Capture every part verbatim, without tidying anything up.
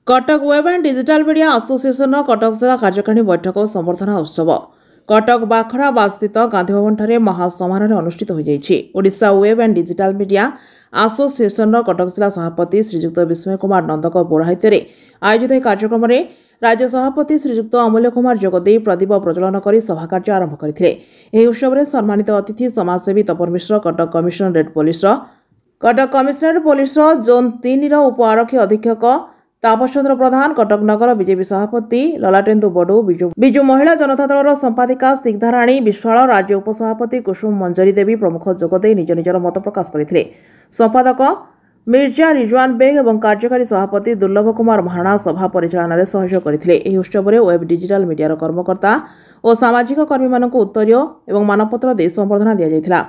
Cuttack web and digital media ଆସୋସିଏସନର କଟକ ଜିଲ୍ଲା କାର୍ଯ୍ୟକାରିଣୀ ବୈଠକ ଓ ସମ୍ବର୍ଦ୍ଧନା ଉତ୍ସବ କଟକ ବାଖରାବାଦସ୍ଥିତ ଗାନ୍ଧୀଭବନଠାରେ ମହାସମାରୋହରେ ଅନୁଷ୍ଠିତ ହୋଇଯାଇଛି। Odisha web and digital media ଆସୋସିଏସନର କଟକ ଜିଲ୍ଲା ସଭାପତି ଶ୍ରୀଯୁକ୍ତ ବିସ୍ମୟ କୁମାର ନନ୍ଦଙ୍କ ପୌରୋହିତ୍ୟରେ ଆୟୋଜିତ ଏହି କାର୍ଯ୍ୟକ୍ରମରେ ରାଜ୍ୟ ସଭାପତି ଶ୍ରୀଯୁକ୍ତ ଅମୂଲ୍ୟ କୁମାର ଯୋଗଦେଇ ପ୍ରଦୀପ ପ୍ରଜ୍ୱଳନ କରି ସଭାକାର୍ଯ୍ୟ ଆରମ୍ଭ କରିଥିଲେ। ଏହି ଉତ୍ସବରେ ସମ୍ମାନିତ ଅତିଥି ସମାଜସେବୀ ତପନ ମିଶ୍ର, କଟକ କମିଶନରେଟ୍ ପୋଲିସର କଟକ କମିଶନରେଟ୍ ପୋଲିସର ଜୋନ୍ ତିନିର ଉପ ଆରକ୍ଷୀ ଅଧୀକ୍ଷକ ତାପସ ଚନ୍ଦ୍ର ପ୍ରଧାନ, କଟକ ନଗର ବିଜେପି ସଭାପତି ଲଲାଟେନ୍ଦୁ ବଡୁ, ବିଜୁ ବିଜୁ ମହିଳା ଜନତା ଦଳର ସମ୍ପାଦିକା ସ୍ନିଗ୍ଧାରାଣୀ ବିଶ୍ୱାଳ, ରାଜ୍ୟ ଉପସଭାପତି କୁସୁମ ମଞ୍ଜରୀ ଦେବୀ ପ୍ରମୁଖ ଯୋଗଦେଇ ନିଜ ନିଜର ମତ ପ୍ରକାଶ କରିଥିଲେ। ସମ୍ପାଦକ ମିର୍ଜା ରିଜୱାନ ବେଗ ଏବଂ କାର୍ଯ୍ୟକାରୀ ସଭାପତି ଦୁର୍ଲଭ କୁମାର ମହାରଣା ସଭା ପରିଚାଳନାରେ ସହଯୋଗ କରିଥିଲେ। ଏହି ଉତ୍ସବରେ ୱେବ୍ ଡିଜିଟାଲ ମିଡିଆର କର୍ମକର୍ତ୍ତା ଓ ସାମାଜିକ କର୍ମୀମାନଙ୍କୁ ଉତ୍ତରୀୟ ଏବଂ ମାନପତ୍ର ଦେଇ ସମ୍ବର୍ଦ୍ଧନା ଦିଆଯାଇଥିଲା।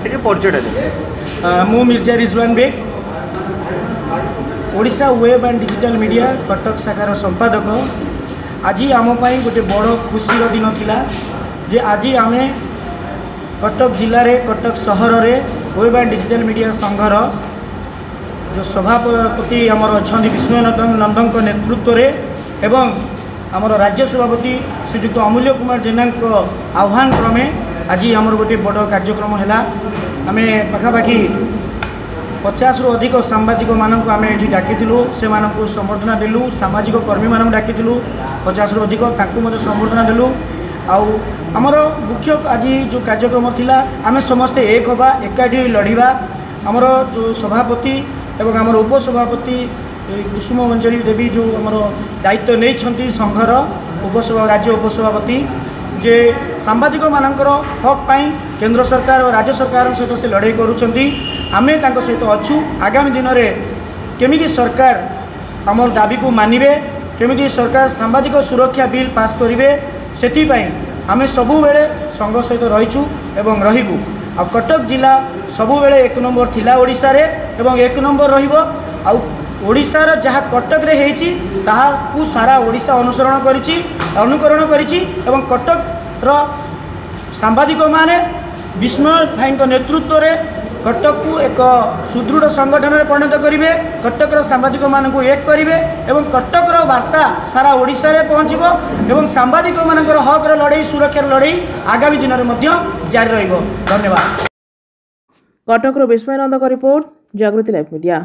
ଟିକେ ପରିଚୟଟା ଦେବେ। ମୁଁ ମିର୍ଜା ରିଜୱାନ ବେଗ, Odisha web and digital media Cuttack ଶାଖାର ସମ୍ପାଦକ। ଆଜି ଆମ ପାଇଁ ଗୋଟେ ବଡ଼ ଖୁସିର ଦିନ ଥିଲା ଯେ ଆଜି ଆମେ କଟକ ଜିଲ୍ଲାରେ, କଟକ ସହରରେ ୱେବ୍ ଆଣ୍ଡ ଡିଜିଟାଲ ମିଡ଼ିଆ ସଂଘର ଯେଉଁ ସଭାପତି ଆମର ଅଛନ୍ତି ବିସ୍ମୟ ନନ୍ଦଙ୍କ ନେତୃତ୍ୱରେ ଏବଂ ଆମର ରାଜ୍ୟ ସଭାପତି ଶ୍ରୀଯୁକ୍ତ ଅମୂଲ୍ୟ କୁମାର ଜେନାଙ୍କ ଆହ୍ୱାନ କ୍ରମେ ଆଜି ଆମର ଗୋଟିଏ ବଡ଼ କାର୍ଯ୍ୟକ୍ରମ ହେଲା। ଆମେ ପାଖାପାଖି ପଚାଶରୁ ଅଧିକ ସାମ୍ବାଦିକମାନଙ୍କୁ ଆମେ ଏଠି ଡାକିଥିଲୁ, ସେମାନଙ୍କୁ ସମ୍ବର୍ଦ୍ଧନା ଦେଲୁ। ସାମାଜିକ କର୍ମୀମାନଙ୍କୁ ଡାକିଥିଲୁ ପଚାଶରୁ ଅଧିକ, ତାଙ୍କୁ ମଧ୍ୟ ସମ୍ବର୍ଦ୍ଧନା ଦେଲୁ। ଆଉ ଆମର ମୁଖ୍ୟ ଆଜି ଯେଉଁ କାର୍ଯ୍ୟକ୍ରମ ଥିଲା, ଆମେ ସମସ୍ତେ ଏକ ହେବା, ଏକାଠି ହୋଇ ଲଢ଼ିବା। ଆମର ଯେଉଁ ସଭାପତି ଏବଂ ଆମର ଉପସଭାପତି କୁସୁମ ମଞ୍ଜରୀ ଦେବୀ ଯେଉଁ ଆମର ଦାୟିତ୍ୱ ନେଇଛନ୍ତି ସଂଘର ଉପସଭା ରାଜ୍ୟ ଉପସଭାପତି, ଯେ ସାମ୍ବାଦିକମାନଙ୍କର ହକ୍ ପାଇଁ କେନ୍ଦ୍ର ସରକାର ଓ ରାଜ୍ୟ ସରକାରଙ୍କ ସହିତ ସେ ଲଢ଼େଇ କରୁଛନ୍ତି, ଆମେ ତାଙ୍କ ସହିତ ଅଛୁ। ଆଗାମୀ ଦିନରେ କେମିତି ସରକାର ଆମର ଦାବିକୁ ମାନିବେ, କେମିତି ସରକାର ସାମ୍ବାଦିକ ସୁରକ୍ଷା ବିଲ୍ ପାସ୍ କରିବେ, ସେଥିପାଇଁ ଆମେ ସବୁବେଳେ ସଂଘ ସହିତ ରହିଛୁ ଏବଂ ରହିବୁ। ଆଉ କଟକ ଜିଲ୍ଲା ସବୁବେଳେ ଏକ ନମ୍ବର ଥିଲା ଓଡ଼ିଶାରେ ଏବଂ ଏକ ନମ୍ବର ରହିବ। ଆଉ ଓଡ଼ିଶାର ଯାହା କଟକରେ ହେଇଛି, ତାହାକୁ ସାରା ଓଡ଼ିଶା ଅନୁସରଣ କରିଛି, ଅନୁକରଣ କରିଛି ଏବଂ କଟକର ସାମ୍ବାଦିକମାନେ ବିସ୍ମୟ ଭାଇଙ୍କ ନେତୃତ୍ୱରେ କଟକକୁ ଏକ ସୁଦୃଢ଼ ସଂଗଠନରେ ପରିଣତ କରିବେ, କଟକର ସାମ୍ବାଦିକମାନଙ୍କୁ ଏକ କରିବେ ଏବଂ କଟକର ବାର୍ତ୍ତା ସାରା ଓଡ଼ିଶାରେ ପହଞ୍ଚିବ ଏବଂ ସାମ୍ବାଦିକମାନଙ୍କର ହକ୍ର ଲଢ଼େଇ, ସୁରକ୍ଷାର ଲଢ଼େଇ ଆଗାମୀ ଦିନରେ ମଧ୍ୟ ଜାରି ରହିବ। ଧନ୍ୟବାଦ। କଟକରୁ ବିସ୍ମୟ ନନ୍ଦଙ୍କ ରିପୋର୍ଟ, ଜାଗୃତି ଲାଇଭ୍ ମିଡିଆ।